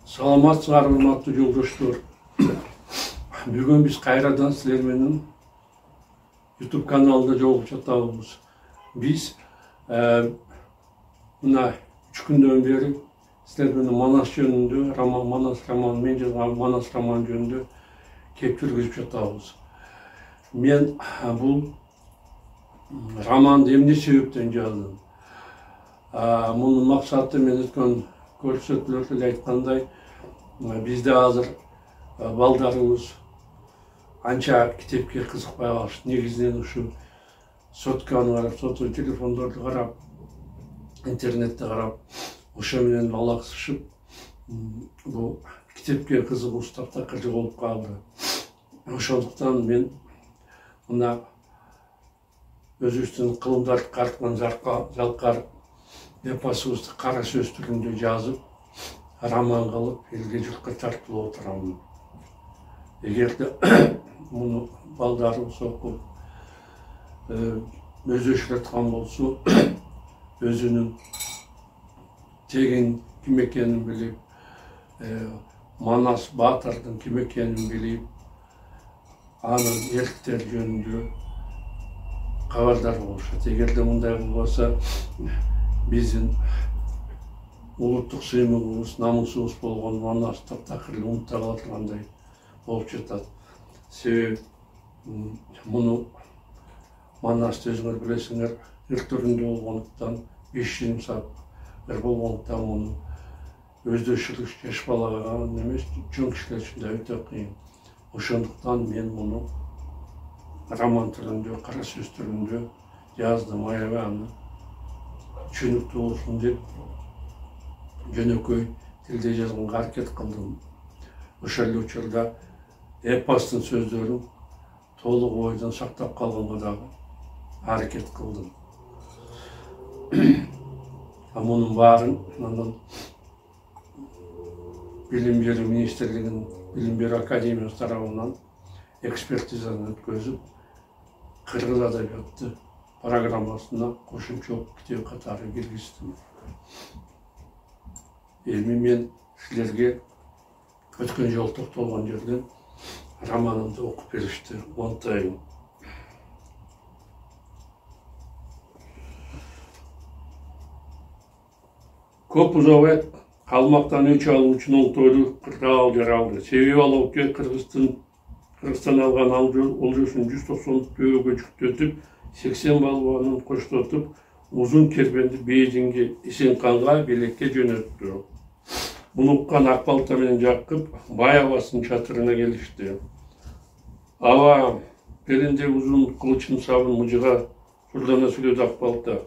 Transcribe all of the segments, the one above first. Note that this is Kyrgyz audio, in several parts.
Саламатсыздар, урматтуу жолдоштор. Бүгүн биз кайрадан силер менен YouTube каналында жолугуп жатабыз. Биз мына 3 күндөн бери силер менен Манас жөнүндө, Манас мен жазган Манас роман жөнүндө кеп жүргүзүп жатабыз. Мен бул романды эмне себептен жаздым? Мунун максаты мен өткөн көрсөтүүлөрдө айткандай, бизде азыр балдарыбыз анча китепке кызыкпай калышты. Негизинен ушу сотканы карап, соту телефондорду карап, интернетте карап, ошо менен алаксышып, бул китепке кызыгуу таптакыр болуп калды. Ошондуктан мен мына өзүбүздүн кылымдарды карткан жалкар эпосубузду кара сөз түрүндө жазып, роман кылып, элге журтка тартуулап отурамын. Эгерде муну балдарыбыз окуп, өздөшүрөткөн болсо, өзүнүн тегин ким экенин билип, Манас баатырдын ким экенин билип, анын эрктери жөнүндө кабардар болушат. Эгерде мындай болбосо, биздин улуттук сыймыгыбыз, намусубуз болгон Манас таптакыр унута кала тургандай болуп жатат. Себеби муну Манасты өзүңөр билесиңер, өлтүрүндө болгондуктан, 5 саат болгондуктан муну өздөшүрүш жаш балага эмес, чоң кишилер үчүн да өтө кыйын. Ошондуктан мен муну роман түрүндө, кара сөз түрүндө жаздым. Аябай аны түшүнүктүү болсун деп жөнөкөй тилде жазганга аракет кылдым. Ошол эле учурда эпостун сөздөрүн толук ойдон сактап калганга дагы аракет кылдым. Мунун баарын анан Билим берүү министрлигинин Билим берүү академиясы тарабынан экспертизаны өткөзүп, кыргыз адабияты программасына кошумча китеп катары киргиздим. Эми мен силерге өткөн жолу токтолгон жерден романымды окуп беришти. Монтайын. Көп узабай калмактан өч алуучунун оңтойлуу кырдаал жаралды. Себеби ал окуя Кыргызстан алган олжосун 190 жүктөтүп, 80 балбанын коштотуп, узун кербенди Бейжиңге, Исенканга белекке жөнөттү. Муну уккан Акбалта менен Жакып бай абасынын чатырына келишти. Аба, белинде узун кылычын сабын мыжыга сурдана сүйлөдү Акбалта.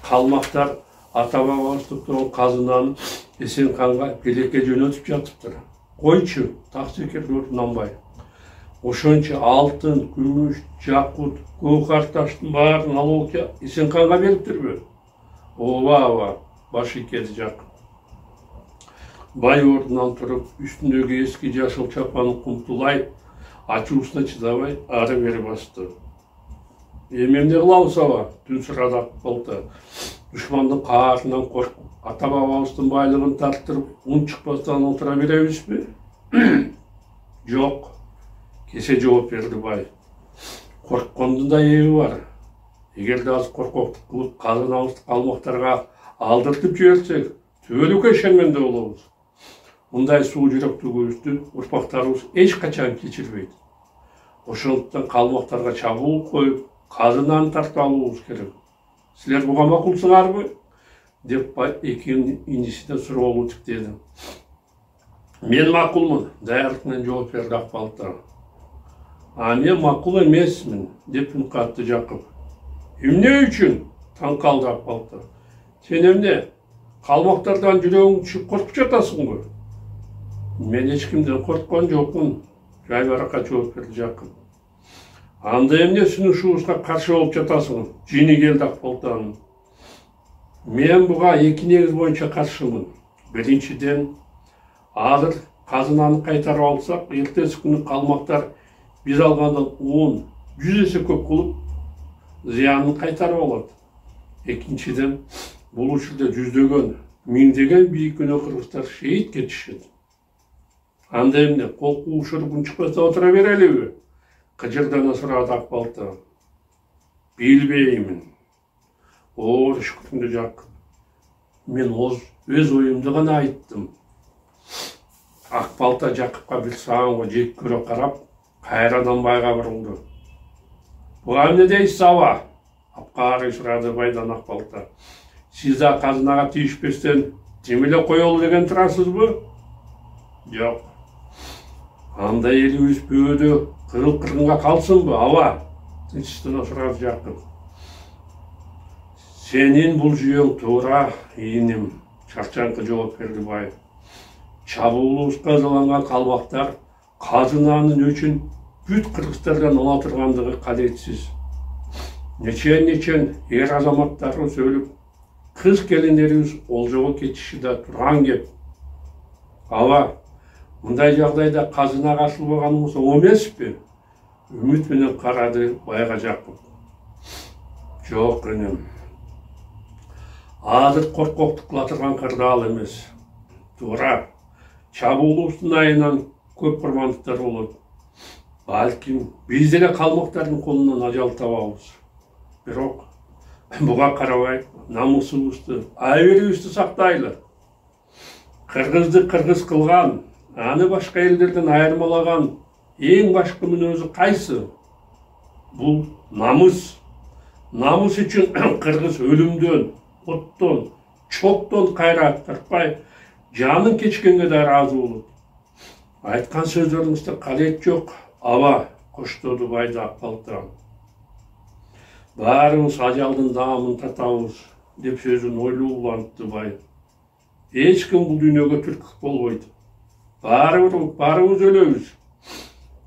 Калмактар ата бабабыз токтогон казынаны Исенканга белекке жөнөтүп жатыптыр. Койчу, таксекерди нанбай. Ошончо алтын, күмүш, жакут, көкар таштын баарын алып Исенканга бериптирби? Ооба, баш ийкеди Жакып. Бай ордунан туруп, үстүндөгү эски жашыл чапанын кумтулай, ачуусуна чыдабай, ары бери басты. Эми эмне кылабыз аба? Түн сурады Акбалта. Душмандын каарынан коркуп, ата бабабыздын байлыгын тарттырып, ун чыкпастан отура беребизби? Жок. Кесе жооп берди бай. Корккондун да эби бар. Эгерде азыр коркоктук кылып казынабызды калмактарга алдыртып жиберсек, түбөлүккө ишенменде болобуз. Мындай суу жүрөктүүлүктү урпактарыбыз эч качан кечирбейт. Ошондуктан калмактарга чабуул коюп, казынаны тартып алуубуз керек. Силер буга макулсуңарбы? Деп бай экинин инисине суроолуу тиктеди. Мен макулмун, даярдык менен жооп берди Акбалта. Мен макул эмесмин, деп үн катты Жакып. Эмне үчүн? Таң калды Акбалта. Сен эмне? Калмактардан жүрөгүң түшүп коркуп жатасыңбы? Мен эч кимден корккон жокмун, жайбаракат жооп берди Жакып. Анда эмне сунушубузга каршы болуп жатасың? Жини келди Акбалтанын. Мен буга эки негиз боюнча каршымын. Биринчиден, азыр казынаны кайтарып алсак, эртеси күнү калмактар биз алгандан 10-100 эсе көп кылып, зыянын кайтарып алат. Экинчиден, бул учурда жүздөгөн, миңдеген бийик өнө кыргыздар шейит кетишет. Анда эмне кол куушургун чыкпаса отура берелиби? Кыжырдана сурады Акбалта. Билбеймин. Оор шүкүрүңдү жак. Мен өз оюмду гана айттым. Акбалта Жакыпка бир сааңга жек көрө карап, кайрадан байга бурулду. Буга эмне дейсиз аба? Апкары сурады байдан Акбалта. Сиз да казынага тийишпестен тим эле коелу деген турасызбы? Жок. Анда элибиз бөөдө кыргынга калсынбы, аба? Тынчтана сурады Жакып. Сенин бул жүйөң туура, ийиним, чарчаңкы жооп берди бай. Чабуулубузга казаланган калбактар казынанын өчүн бүт кыргыздардан ала тургандыгы кадетсиз. Нечен эр азаматтарыбыз өлүп, кыз келиндерибиз олжого кетиши да турган кеп. Аба, мындай жагдайда казынага ашылбаганыбыз оң эмеспи? Үмүт менен карады байга Жакып. Жок энем. Азыр коркоктук кыла турган кырдаал эмес. Туура. Чабуулубуздун айынан көп курмандыктар болот. Балким биз деле калмактардын колунан ажал табабыз. Бирок буга карабай намусубузду, айберибизди сактайлы. Кыргызды кыргыз кылган, аны башка элдерден айырмалаган эң башкы мүнөзү кайсы? Бул намыс. Намыс үчүн кыргыз өлүмдөн, оттон, чоктон кайра тартпай, жанын кечкенге да ыраазы болот. Айткан сөздөрүңүздө кадет жок, аба, коштоду байда Акбалта. Баарыбыз ажалдын даамын татабыз, деп сөзүн ойлуу улантты бай. Эч ким бул дүйнөгө түрк болбойт. Баарыбыз өлөбүз.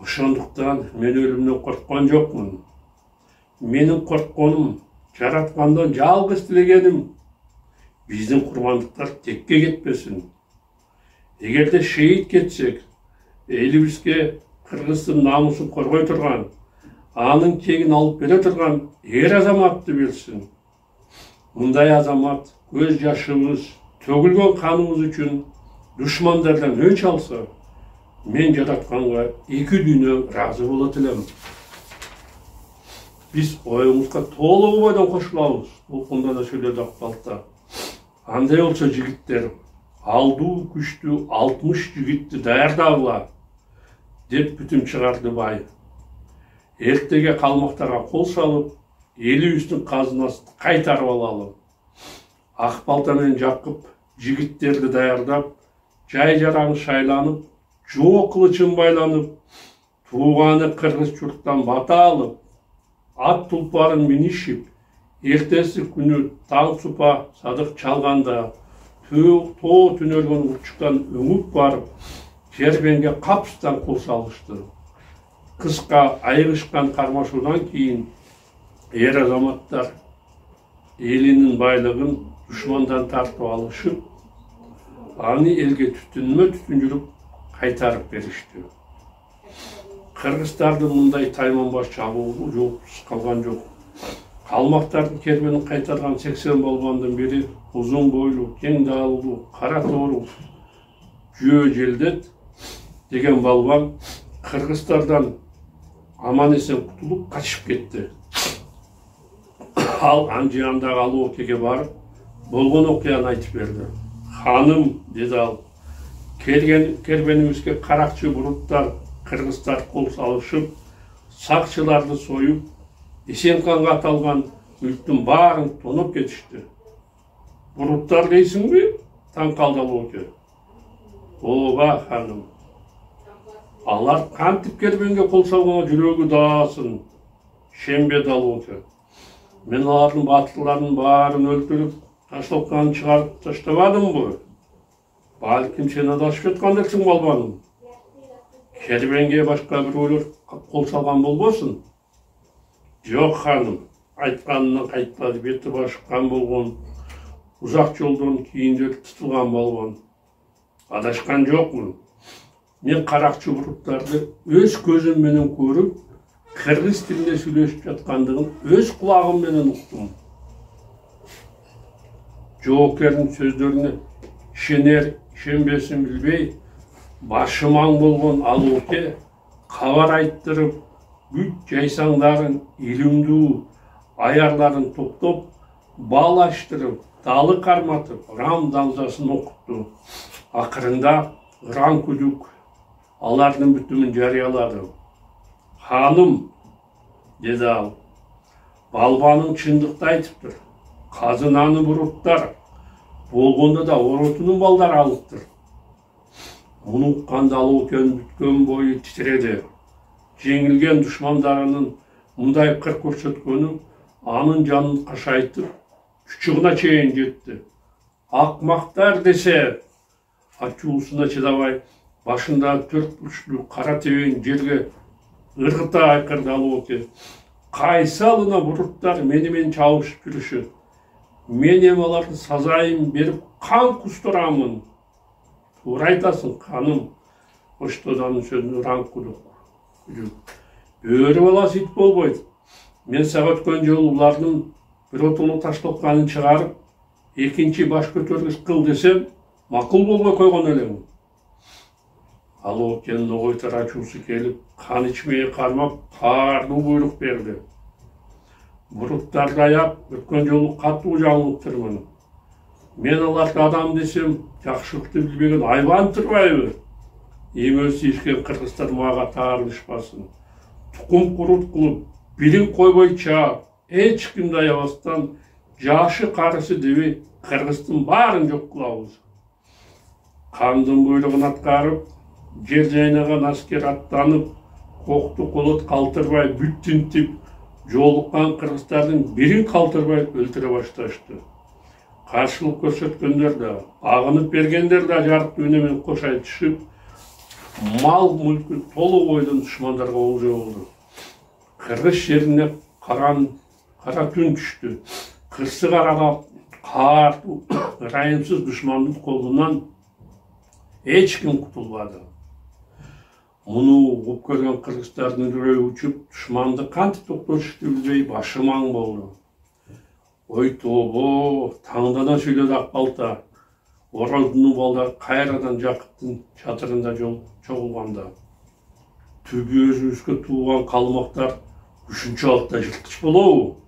Ошондуктан мен өлүмдөн корккон жокмун. Менин коркконум, жараткандан жалгыз тилегеним биздин курмандыктар текке кетпесин. Эгерде шейит кетсек, элибизге кыргыздын намысын коргой турган, анын кегин алып бере турган эр азаматты берсин. Мындай азамат көз жашыбыз, төгүлгөн каныбыз үчүн душмандардан өч алса, мен жаратканга эки дүйнө ыраазы болот элем. Биз оюңузга толугу бойдон кошулабыз, толкундана сүйлөдү Акбалта. Андай болсо жигиттер, алдуу күчтүү 60 жигитти даярдагыла, деп бүтүм чыгарды бай. Эртеге калмактарга кол салып, элибиздин казынасын кайтарып алалы. Акбалта менен Жакып жигиттерди даярдап, жай жараны шайланып, жоо кылычын байланып, тууганы кыргыз журттан бата алып, ат тулпарын минишип, эртеси күнү таң супа садык чалганда, тоо түнөлгөн урчуктан өңүп барып, Кербенге капыстан кол салышты. Кыска айрышкан кармашуудан кийин эр азаматтар элинин байлыгын душмандан тартып алышып, аны элге түтүнмө түтүн жүрүп кайтарып беришти. Кыргыздардын мындай тайманбаш чабуулу жоопсуз калган жок. Калмактардын кербенин кайтарган 80 болгондун бири узун бойлуу, кең даалуу, кара тоору жөө желдет деген балбан кыргыздардан аман эсен кутулуп качып кетти. Ал Анжыяндагы алуу океге барып, болгон окуяны айтып берди. Ханым, деди ал, кербенибизге каракчы буруттар, кыргыздар кол салышып, сакчыларды союп, Эсенканга аталган мүлктүн баарын тоноп кетишти. Буруттар дейсиңби? Таң калды ал оке. Ооба, ханым. Алар кантип кербенге кол салганга жүрөгү даасын. Шембе далоке. Мен алардын батырларынын баарын өлтүрүп, ташталганын чыгарып таштабадымбы? Балким сен адашып жаткандырсың балбаным. Кербенге башка бирөөлөр кол салган болбосун? Жок, ханым. Айтканынан кайтпады, бети башы кан болгон. Узак жолдон кийинчерээк тутулган балбан. Адашкан жокмун. Мен каракчы буруттарды өз көзүм менен көрүп, кыргыз тилинде сүйлөшүп жаткандыгын өз кулагым менен уктум. Жоокердин сөздөрүнө ишенер, ишенбесин билбей, Башы маң болгон Алооке кабар айттырып, бүт жайсаңдарын, илимдүү аярларын топтоп, бал аштырып, далы карматып, ырам дамзасын окутту. Акырында ыран күдүк алардын бүтүмүн жарыялады. Ханым, деди ал, балбаның чындыкты айтыптыр. Казынаны буруттар, болгондо да оротунун балдары алыптыр. Муну укканда Алоокенин бүткөн бою титиреди. Жеңилген душмандарынын мындай кыр көрсөткөнү анын жанын кашайтып, чучугуна чейин жетти. Акмактар десе, ачуусуна чыдабай, башындагы 4 бурчтуу кара тебен жерге ыргыта айкырды Алооке. Кайсы алына буруттар менен чабышып жүрүшөт. Мен эми аларды сазайын берип кан кустурамын. Туура айтасың, ханым. Оштоданын сөзүнө ыран күдүк. Бөрү баласы ит болбойт. Мен сага өткөн жолу улардын биротуну таштотканын чыгарып, экинчи баш көтөргүч кыл десем, макул болбой койгон элем. Алоокенин огойтар ачуусу келип, кан ичмeye кармап, каардуу буйрук берди. Буруттарды аяп, өткөн жолу катуу жаңылыптырмын. Мен аларды адам десем, жакшылыкты билбеген айбан турбайбы? Эмөсү ишкен кыргыздар мага таарынышпасын. Тукум курут кылып, билин койбой чаап, эч кимди аябастан, жашы карысы дебей, кыргыздын баарын жок кылабыз. Кандын буйругун аткарып, жер жайнаган аскер аттанып, кокту колот калтырбай бүт тинтип, жолуккан кыргыздардын бирин калтырбай өлтүрө башташты. Каршылык көрсөткөндөр да, агынып бергендер да жарыктуу үн менен кош айтышып, мал мүлкү толук бойдон душмандарга олжо болду. Кыргыз жерине кара түн түштү. Кырсы каралап, каардуу, ырайымсыз душмандын колунан эч ким кутулбады. Муну угуп көргөн кыргыздардын үрөйү учуп, душманды кантип токтотушту билбей башы маң болду. Ой тобо, таңдана сүйлөдү Акбалта. Ороздун балдары кайрадан Жакыптын чатырында чогулганда. Түбү өзүбүзгө тууган калмактар ушунчалык да жылкыч болобу?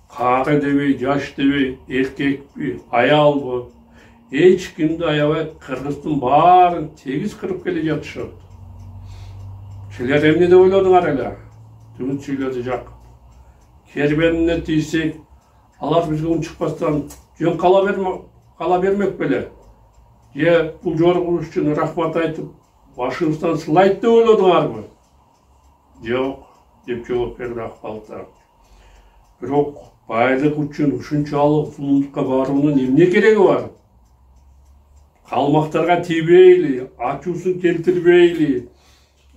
Кары дебей, жаш дебей, эркекпи, аялбы? Эч кимди аябай кыргыздын баарын тегиз кырып келе жатышат. Силер эмне деп ойлодуңар эле? Түмүт сүйлөдү Жакып. Кербенине тийсек, алар бизге унчукпастан жөн кала бермек беле? Же бул жоругубуз үчүн рахмат айтып, башыбыздан сылайт деп ойлодуңарбы? Жок, деп жооп берди Акбалта. Бирок байлык үчүн ушунчалык зулумдукка баруунун эмне кереги бар? Калмактарга тийбейли, ачуусун келтирбейли,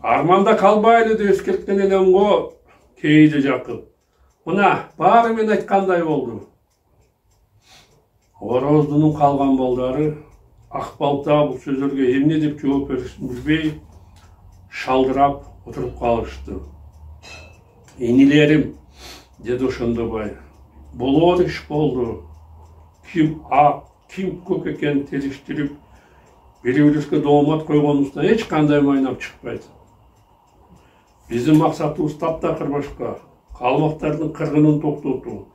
арманда калбайлы деп эскерткен элем го, кейди Жакып. Мына, баары мен айткандай болду. Ороздунун калган балдары Акбалта бул сөзлөргө эмне деп жооп беришин билбей, шалдырап отуруп калышты. Энилерим, деди ошондобай, болор иш болду. Ким ак, ким көк экенин териштирип, бири-бирибизге доомат койгонубуздан эч кандай майнап чыкпайт. Биздин максатыбыз таптакыр башка. Калмактардын кыргынын токтотуу.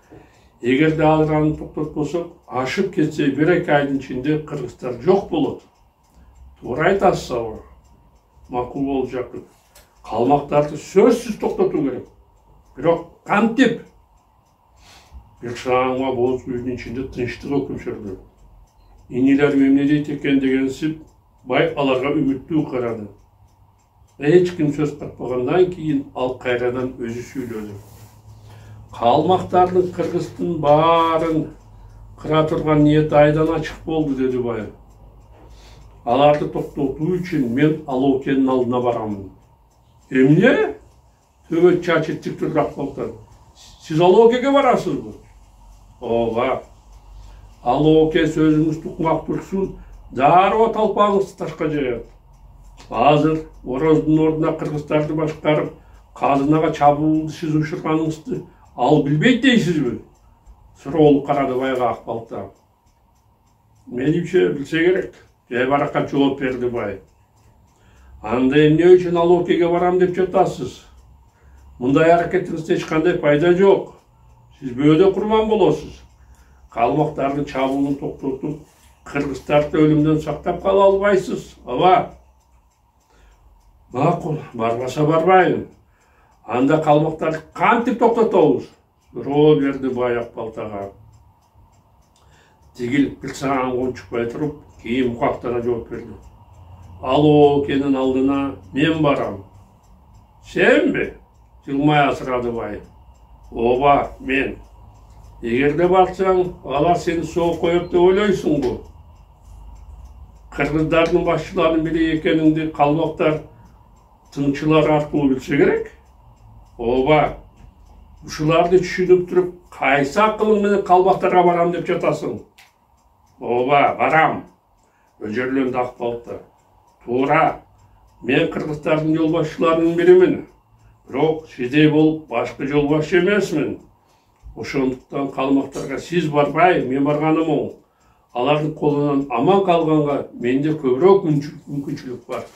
Эгерде алар аны токтотпосок, ашып кетсе 1-2 айдын ичинде кыргыздар жок болот. Туура айтасыз, макул болуп Жакып. Калмактарды сөзсүз токтотуу керек. Бирок кантип? Бир шаңга боз үйдүн ичинде тынчтык өкүм сүрдү. Инилерим эмне дейт экен дегенсип, бай аларга үмүттүү карады. Эч ким сөз катпагандан кийин ал кайрадан өзү сүйлөдү. Калмактардын кыргыздын баарын кыра турган ниети айдан ачык болду, деди бай. Аларды токтотуу үчүн мен Алоокенин алдына барамын. Эмне? Төбөт чачы тик турду Акбалта. Сиз Алоокеге барасызбы? Ооба. Алооке сөзүңүз тукмак турсун, дароо талпаңызды ташка жаят. Азыр Ороздун ордуна кыргыздарды башкарып, казынага чабуулду сиз учурганыңызды ал билбейт дейсизби? Суроолуп карады байга Акбалта. Менимче билсе керек, жай баракка жооп берди бай. Анда эмне үчүн ал океге барам деп жатасыз? Мындай аракетиңизде эч кандай пайда жок. Сиз бөөдө курман болосуз. Калмактардын чабуулун токтотуп, кыргыздарды өлүмдөн сактап кала албайсыз. Ооба. Макул, барбаса барбайын. Анда калмактарды кантип токтотобуз? Суроо берди бай Акбалтага. Тигил бир сагаан кончукпай туруп, кийин мукактана жооп берди. Ал окенин алдына мен барам. Сенби? Жылмай асырады бай. Ооба, мен. Эгерде барсаң, алар сени соо коет деп ойлойсуңбу? Кыргыздардын башчыларынын бири экениңди калмактар тыңчылар аркылуу билсе керек. Ооба, ушуларды түшүнүп туруп, кайсы акылың менен калмактарга барам деп жатасың? Ооба, барам. Өжөрлөндү Акбалта. Туура, мен кыргыздардын жолбашчыларынын биримин. Бирок сиздей болуп башкы жолбашчы эмесмин. Ошондуктан калмактарга сиз барбай, мен барганым оң. Алардын колунан аман калганга менде көбүрөөк мүмкүнчүлүк бар.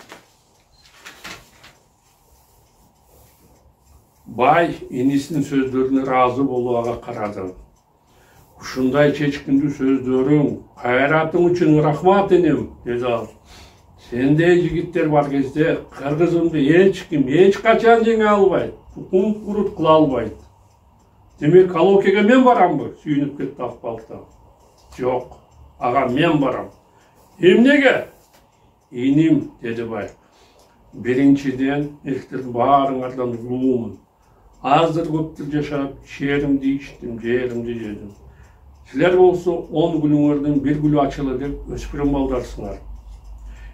Бай инисинин сөздөрүнө ыраазы болуп ага карады. Ушундай чечкиндүү сөздөрүң, кайратың үчүн рахмат энем, деди ал. Сендей жигиттер бар кезде кыргызымды эч ким эч качан жеңе албайт, тукум курут кыла албайт. Демек, ал океге мен барамбы? Сүйүнүп кетти Акбалта. Жок, ага мен барам. Эмнеге? Иним, деди бай. Биринчиден, элдердин баарыңардан улуумун. Азыр көптүр жашап, шеримди ичтим, жеримди жедим. Силер болсо 10 гүлүңөрдүн бир гүлү ачылы деп өспүрүм балдарсыңар.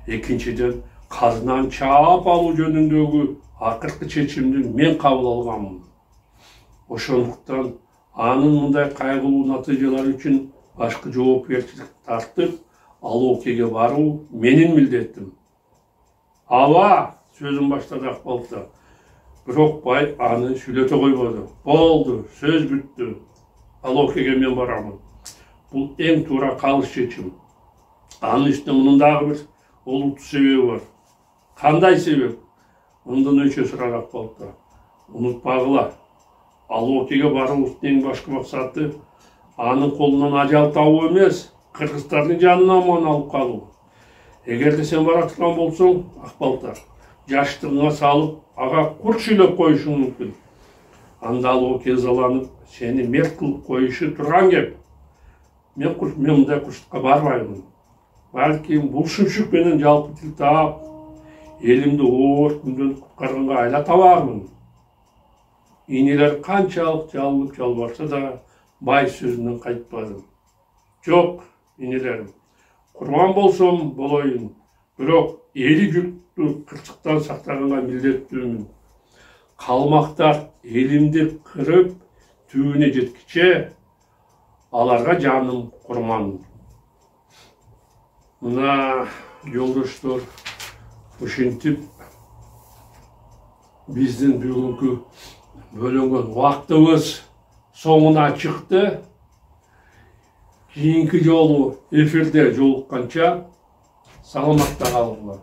Экинчиден, казынан чаап алуу жөнүндөгү акыркы чечимди мен кабыл алганмын. Ошондуктан анын мындай кайгылуу натыйжалары үчүн башкы жоопкерчилик тартып, ал океге баруу менин милдетим. Ооба, сөзүн баштады Акбалта. Бирок бай аны сүйлөтө койбоду. Болду, сөз бүттү. Ал океге мен барамын. Бул эң туура калыс чечим. Анын үстүнө мунун дагы бир олуттуу себеби бар. Кандай себеп? Мындан өчө сурады Акбалта. Унутпагыла. Ал океге баруубуздун эң башкы максаты анын колунан ажал табуу эмес, кыргыздардын жанын аман алып калуу. Эгерде сен бара турган болсоң, Акбалта, жаштыгыңа салып, ага курт сүйлөп коюшуң мүмкүн. Анда ал оке ызаланып, сени мерт кылып коюшу турган кеп. Мен мындай курчтукка барбаймын. Балким бул шүмшүк менен жалпы тил таап, элимди оор күндөн куткарганга айла табармын. Инилер канчалык жалынып жалбарса да, бай сөзүнөн кайтпады. Жок, инилерим, курман болсом болоюн, бирок эли журтту кырсыктан сактаганга милдеттүүмүн. Калмактар элимди кырып, түбүнө жеткиче, аларга жаным курман. Мына жолдоштор, ушинтип биздин бүгүнкү бөлөнгөн убактыбыз соңуна чыкты. Кийинки жолу эфирде жолукканча саламатта калыңlar.